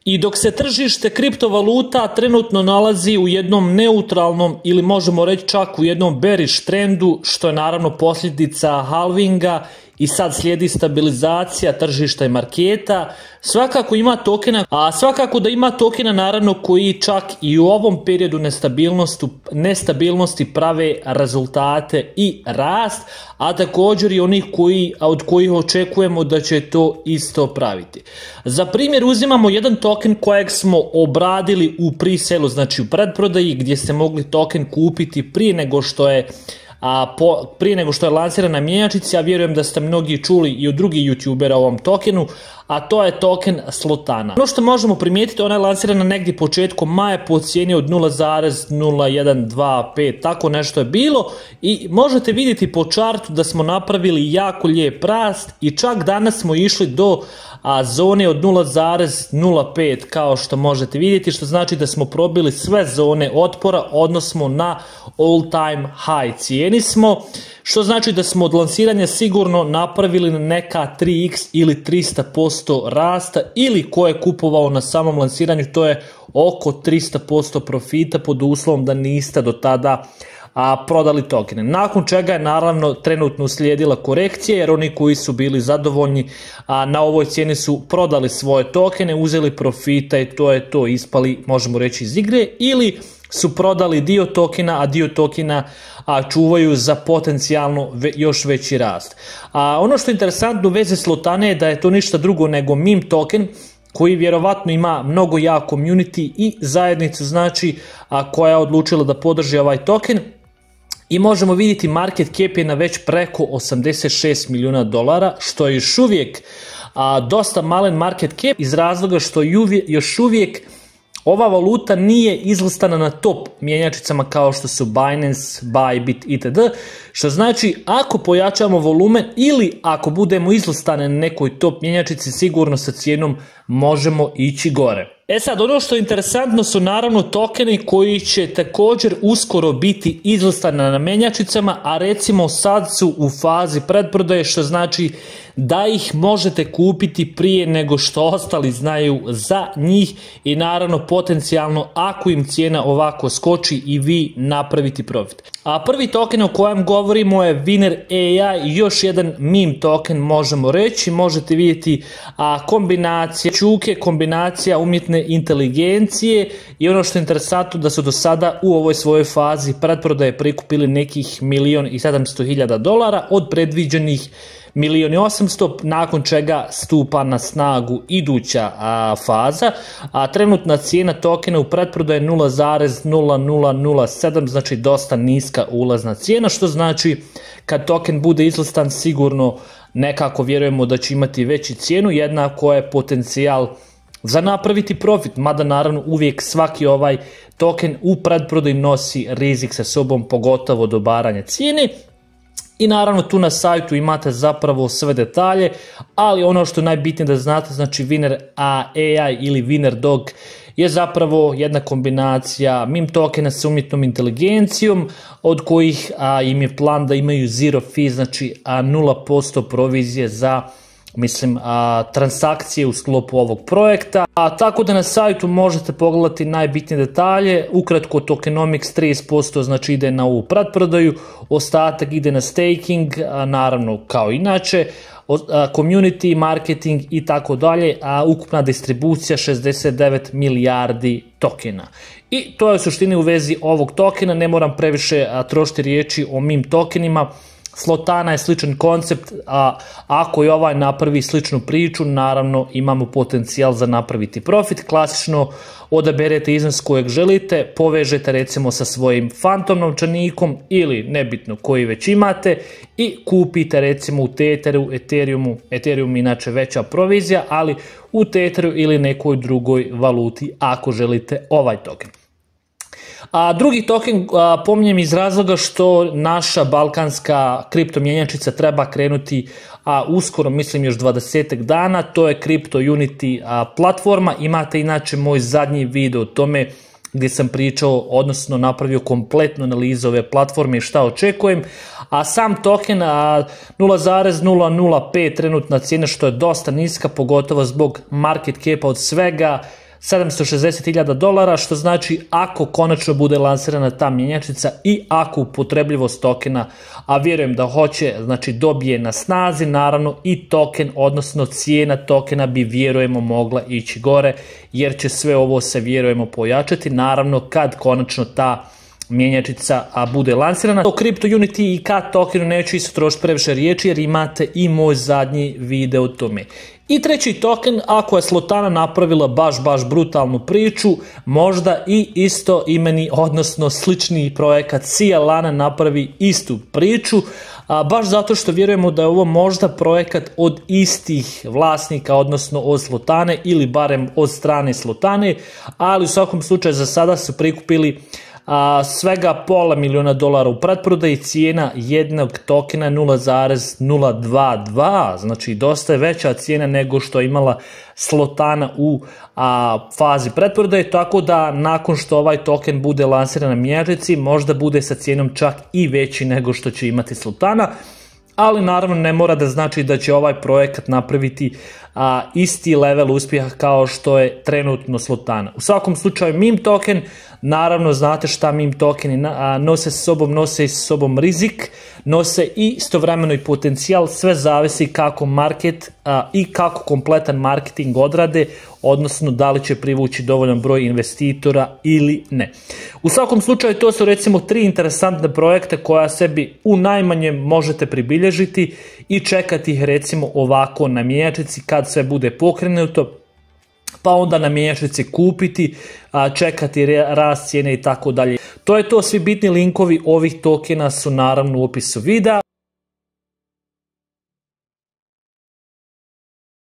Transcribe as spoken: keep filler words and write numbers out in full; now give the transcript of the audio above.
I dok se tržište kriptovaluta trenutno nalazi u jednom neutralnom ili možemo reći čak u jednom bearish trendu, što je naravno posljedica halvinga i sad slijedi stabilizacija tržišta i marketa, svakako ima tokena, a svakako da ima tokena naravno koji čak i u ovom periodu nestabilnosti, nestabilnosti prave rezultate i rast, a također i onih koji, od kojih očekujemo da će to isto praviti. Za primjer uzimamo jedan token kojeg smo obradili u pre-sale, znači u predprodaji, gdje ste mogli token kupiti prije nego što je A po, prije nego što je lansirana na mjenjačnici, ja vjerujem da ste mnogi čuli i od drugih youtubera o ovom tokenu, a to je token Slotana. Ono što možemo primijetiti, ona je lansirana negdje početkom maja po cijeni od nula zarez nula jedan dva pet, tako nešto je bilo, i možete vidjeti po čartu da smo napravili jako lijep rast i čak danas smo išli do a, zone od nula zarez nula pet, kao što možete vidjeti, što znači da smo probili sve zone otpora, odnosno na all time high cijeni smo, što znači da smo od lansiranja sigurno napravili neka tri iks ili trista posto rasta, ili ko je kupovao na samom lansiranju, to je oko trista posto profita pod uslovom da niste do tada a, prodali tokene. Nakon čega je naravno trenutno uslijedila korekcija, jer oni koji su bili zadovoljni a, na ovoj cijeni su prodali svoje tokene, uzeli profita i to je to, ispali, možemo reći, iz igre, ili su prodali dio tokena, a dio tokena a, čuvaju za potencijalno ve, još veći rast. A, ono što je interesantno u vezi Slotane je da je to ništa drugo nego meme token, koji vjerovatno ima mnogo jak community i zajednicu, znači, a, koja je odlučila da podrži ovaj token. I možemo vidjeti market cap je na već preko osamdeset šest milijuna dolara, što je još uvijek a, dosta malen market cap, iz razloga što juvi, još uvijek ova valuta nije izlistana na top mjenjačnicama kao što su Binance, Bybit itd. Što znači, ako pojačamo volumen ili ako budemo izlistane na nekoj top mjenjačnici, sigurno sa cijenom možemo ići gore. E sad, ono što je interesantno su naravno tokeni koji će također uskoro biti izlistani na mjenjačnicama, a recimo sad su u fazi predprodaje, što znači da ih možete kupiti prije nego što ostali znaju za njih i naravno potencijalno ako im cijena ovako skoči i vi napraviti profit. A prvi token o kojem govorimo je Winner A I, još jedan meme token možemo reći, možete vidjeti a, kombinacije čuke, kombinacija umjetne inteligencije i ono što je interesantno da su do sada u ovoj svojoj fazi pretprodaje prikupili nekih milion i sedamsto hiljada dolara od predviđenih milijun i osamsto, nakon čega stupa na snagu iduća a, faza, a trenutna cijena tokena u pretprodaji je nula zarez nula nula nula sedam, znači dosta niska ulazna cijena, što znači kad token bude izlistan sigurno nekako vjerujemo da će imati veći cijenu, jednako je potencijal za napraviti profit, mada naravno uvijek svaki ovaj token u predprodaji nosi rizik sa sobom, pogotovo do baranja cijene. I naravno tu na sajtu imate zapravo sve detalje, ali ono što je najbitnije da znate, znači Winner A I ili Winner Dog je zapravo jedna kombinacija meme tokena sa umjetnom inteligencijom, od kojih a, im je plan da imaju zero fee, znači a, nula posto provizije za mislim a, transakcije u sklopu ovog projekta. A, tako da na sajtu možete pogledati najbitnije detalje. Ukratko, tokenomics trideset posto znači ide na ovu pretprodaju, ostatak ide na staking, a, naravno kao inače, a, community, marketing i tako dalje, a ukupna distribucija šezdeset devet milijardi tokena. I to je u suštini u vezi ovog tokena, ne moram previše a, trošiti riječi o meme tokenima. Slotana je sličan koncept, a ako i ovaj napravi sličnu priču, naravno imamo potencijal za napraviti profit. Klasično odaberete iznos kojeg želite, povežete recimo sa svojim Phantom novčanikom ili nebitno koji već imate i kupite recimo u Tetheru, Ethereumu, Ethereum inače veća provizija, ali u Tetheru ili nekoj drugoj valuti ako želite ovaj token. A drugi token a, pominjem iz razloga što naša balkanska kripto mjenjačnica treba krenuti a, uskoro, mislim još dvadesetak dana, to je Crypto Unity a, platforma. Imate inače moj zadnji video o tome gdje sam pričao, odnosno napravio kompletnu analizu ove platforme i šta očekujem, a sam token nula zarez nula nula pet trenutna cijena, što je dosta niska, pogotovo zbog market capa od svega sedamsto šezdeset hiljada dolara, što znači ako konačno bude lansirana ta mjenjačnica i ako upotrebljivost tokena, a vjerujem da hoće, znači dobije na snazi, naravno i token, odnosno cijena tokena bi vjerujemo mogla ići gore, jer će sve ovo se vjerujemo pojačati, naravno kad konačno ta mjenjačica a bude lansirana. O CryptoUnity i K tokenu neću isto trošiti previše riječi jer imate i moj zadnji video o tome. I treći token, ako je Slotana napravila baš, baš brutalnu priču, možda i isto imeni, odnosno slični projekat Cialana napravi istu priču, a baš zato što vjerujemo da je ovo možda projekat od istih vlasnika, odnosno od Slotane ili barem od strane Slotane, ali u svakom slučaju za sada su prikupili a, svega pola miliona dolara u pretprodaji, cijena jednog tokena nula zarez nula dvadeset dva, znači dosta je veća cijena nego što je imala Slotana u a, fazi pretprodaje, tako da nakon što ovaj token bude lansiran na mjenjačnici, možda bude sa cijenom čak i veći nego što će imati Slotana, ali naravno ne mora da znači da će ovaj projekat napraviti a, isti level uspjeha kao što je trenutno Slotana. U svakom slučaju meme token, naravno znate šta meme tokeni a, nose sa sobom, nose sa sobom rizik, nose i istovremeno i potencijal, sve zavisi kako market a, i kako kompletan marketing odrade, odnosno da li će privući dovoljan broj investitora ili ne. U svakom slučaju to su recimo tri interesantne projekte koja sebi u najmanjem možete pribilježiti i čekati ih recimo ovako na mjenjačnici kad sve bude pokrenuto, pa onda na mjenjačnici kupiti, a, čekati rast cijene i tako dalje. To je to, svi bitni linkovi ovih tokena su naravno u opisu videa.